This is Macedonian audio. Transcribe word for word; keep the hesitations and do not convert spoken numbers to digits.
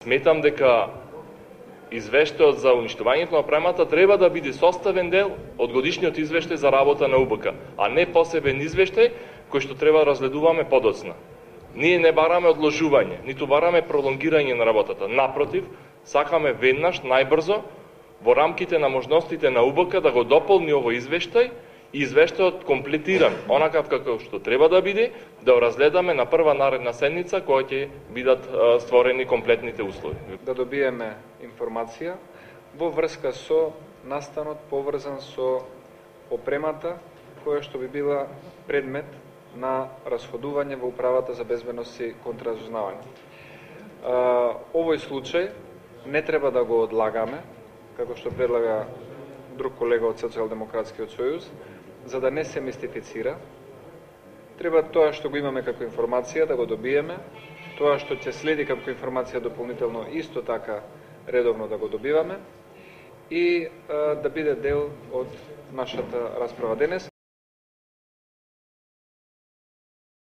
Сметам дека извештајот за уништувањето на опремата треба да биде составен дел од годишниот извештај за работа на УБК, а не посебен извештај кој што треба да разгледуваме подоцна. Ние не бараме одложување, ниту бараме пролонгирање на работата. Напротив, сакаме веднаш, најбрзо, во рамките на можностите на УБК да го дополни овој извештај и извештајот комплетиран, онакав како што треба да биде, да го разгледаме на прва наредна седница која ќе бидат створени комплетните услови. Да добиеме информација во врска со настанот поврзан со опремата која што би била предмет на расходување во Управата за безбедност и контраразузнавање. Овој случај не треба да го одлагаме, како што предлага друг колега од Социјалдемократскиот сојуз, за да не се мистифицира. Треба тоа што го имаме како информација да го добиеме, тоа што ќе следи како информација дополнително исто така редовно да го добиваме и а, да биде дел од нашата расправа денес.